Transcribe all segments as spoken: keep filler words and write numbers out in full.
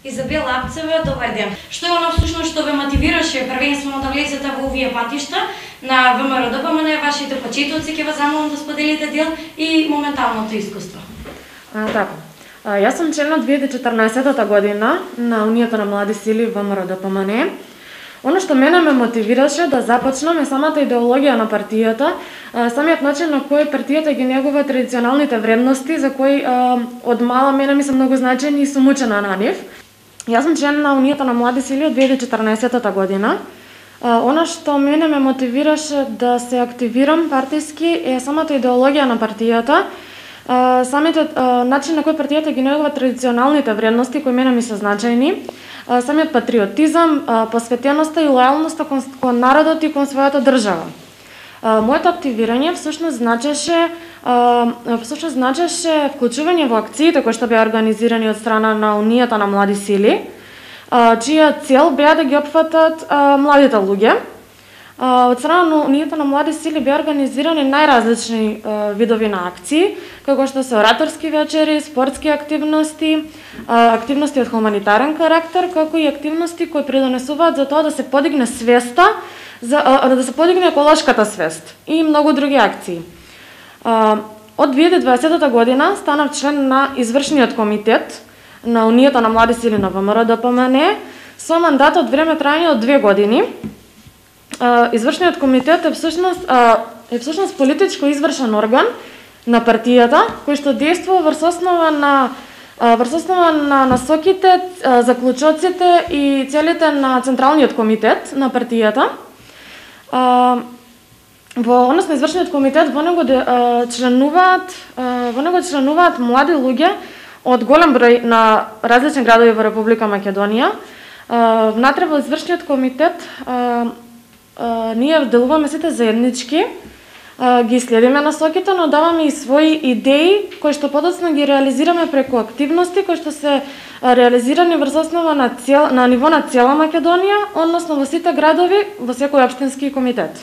Изабела Апцева, добар ден. Што е она всушност што ве мотивираше првенствено да влезете во овие патишта на ВМРО-ДПМН, вашите почетоци, ќе ве замолам да споделите дел и моменталното искуство? А, така. А, јас сум член од две илјади и четрнаесетта година на Унијата на млади сили ВМРО-ДПМН. Оно што мене ме мотивираше да започнам е самата идеологија на партијата, самиот начин на кој партијата ги негува традиционалните вредности за кои а, од мала мене ми се многу значени и сум учена на нив. Јас сум член на Унијата на млади сили од две илјади и четрнаесетта година. А, она што мене ме мотивираше да се активирам партиски е самата идеологија на партијата, а, самиот а, начин на кој партијата ги негува традиционалните вредности кои мене ми се значајни, а, самиот патриотизам, а, посветеноста и лојалноста кон, кон народот и кон својата држава. А, моето активирање всушност значеше а, всушност значеше вклучување во акциите кои што беа организирани од страна на Унијата на млади сили, а, чија цел беа да ги опфатат а, младите луѓе. А, од страна на Унијата на млади сили беа организирани најразлични а, видови на акции, како што се ораторски вечери, спортски активности, а, активности од хуманитарен карактер, како и активности кои придонесуваат за тоа да се подигне свеста, за а, да се подигне еколошката свест и многу други акции. А, од две илјади и дваесетта година станав член на извршниот комитет на Унијата на млади сили на ВМРО-ДПМН со мандат од време трајање од две години. А, извршниот комитет е всушност а, е всушност политичко извршен орган на партијата кој што действува врз основа на а, врз основа на насоките, а, заклучоците и целите на централниот комитет на партијата. А, во однос на извршниот комитет во него де, а, членуваат а, во него членуваат млади луѓе од голем број на различни градови во Република Македонија. А, внатре во извршниот комитет а, а, ние делуваме сите заеднички, а, ги следиме насоките, но даваме и своји идеи кои што подоцна ги реализираме преку активности кои што се реализирани врз основа на цел, на ниво на цела Македонија, односно во сите градови, во секој општински комитет.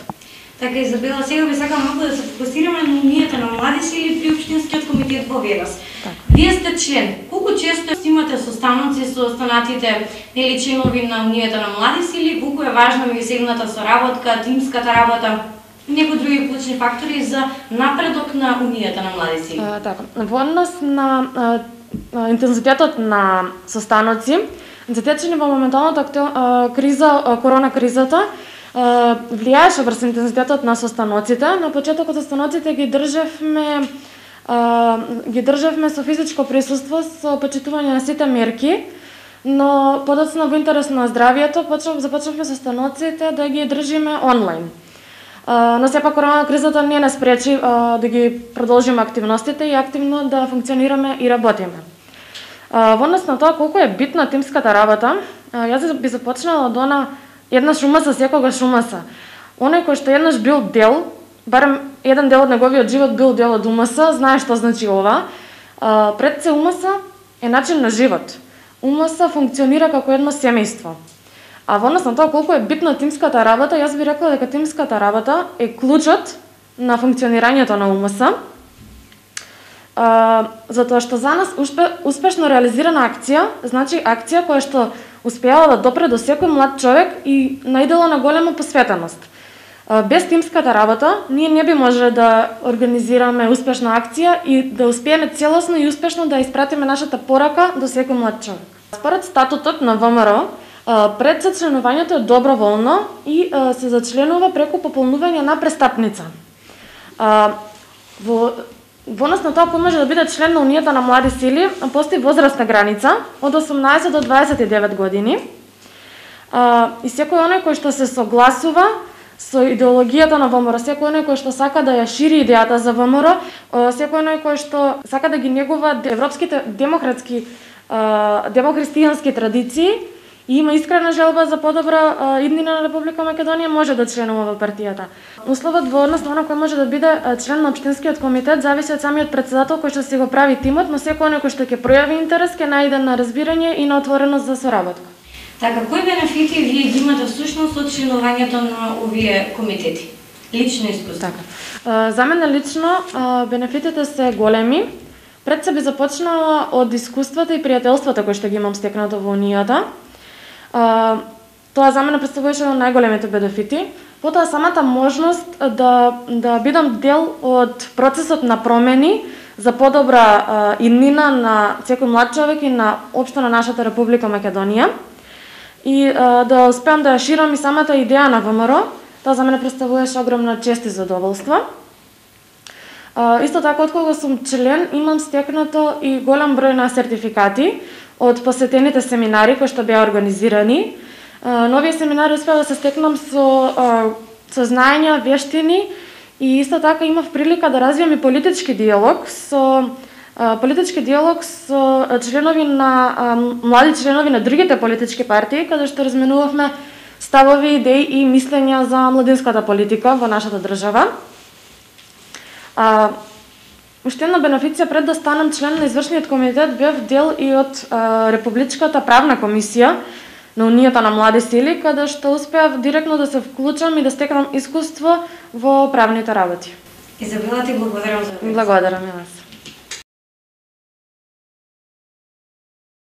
Така, Изабела, сега би сакам малку да се фокусираме на Унијата на млади сили при општинскиот комитет во Велес. Так. Вие сте член. Колку често имате состаноци со останатите нели членови на Унијата на млади сили? Колку е важна меѓусебната соработка, тимската работа, некои други клучни фактори за напредок на Унијата на млади сили? А, така. Во однос на а, интензитетот на состаноци, затечени во моменталната а, криза, а, корона кризата, Uh, влијаеше врз интензитетот на состаноците. На почетокот состаноците ги држевме uh, ги држевме со физичко присуство, со почитување на сите мерки, но подоцна во интерес на здравието почнав, започнавме состаноците да ги држиме онлайн. Uh, но сепак корона кризата не не спречи uh, да ги продолжиме активностите и активно да функционираме и работиме. Uh, во однос на тоа колку е битна тимската работа, uh, јас би започнала од она еднаш умаса, секогаш умаса. Оној кој што еднаш бил дел, барем еден дел од неговиот живот бил дел од умаса, знае што значи ова. А, пред се умаса е начин на живот. Умаса функционира како едно семејство. А во однос на тоа колку е битна тимската работа, јас би рекла дека тимската работа е клучот на функционирањето на умаса. А, затоа што за нас успе, успешно реализирана акција, значи акција која што успеала да допре до секој млад човек и наидела на голема посветеност. Без тимската работа, ние не би можеле да организираме успешна акција и да успееме целосно и успешно да испратиме нашата порака до секој млад човек. Според статутот на ВМРО, пред зачленувањето е доброволно и се зачленува преку пополнување на престапница. Во Во однос на тоа кој може да биде член на Унијата на млади сили, постои возрастна граница од осумнаесет до дваесет и девет години. А, и секој оној кој што се согласува со идеологијата на ВМРО, секој оној кој што сака да ја шири идејата за ВМРО, секој оној кој што сака да ги негува европските демократски, демохристијански традиции и има искрена желба за подобра иднина на Република Македонија, може да членува во партијата. Условот во однос на оној кој може да биде член на општинскиот комитет зависи од самиот председател кој што си го прави тимот, но секој оној кој што ќе пројави интерес ќе најде на разбирање и на отвореност за соработка. Така, кои бенефити вие ги имате всушност од членувањето на овие комитети? Лично искуство. Така. За мене лично бенефитите се големи. Пред се би започнала од искуствата и пријателствата кои што ги имам стекнато во Унијата. А, тоа за мене представуваше еден од најголемите бенефити. Потоа самата можност да да бидам дел од процесот на промени за подобра а, иднина на секој млад човек и на општо на нашата Република Македонија. И а, да успеам да ја ширам и самата идеја на ВМРО, тоа за мене представуваше огромна чест и задоволство. А, исто така, откога сум член, имам стекнато и голем број на сертификати од посетените семинари кои што беа организирани. А, нови семинари успеа да се стекнам со, а, со знаења, вештини и исто така имав прилика да развијам и политички диалог со а, политички диалог со членови на а, млади членови на другите политички партии, каде што разменувавме ставови, идеи и мислења за младинската политика во нашата држава. А, уште една бенефиција пред да станам член на извршниот комитет бев дел и од а, Републичката правна комисија на Унијата на млади сили, каде што успеав директно да се вклучам и да стекнам искуство во правните работи. Изабела, ти благодарам за Благодарам и вас.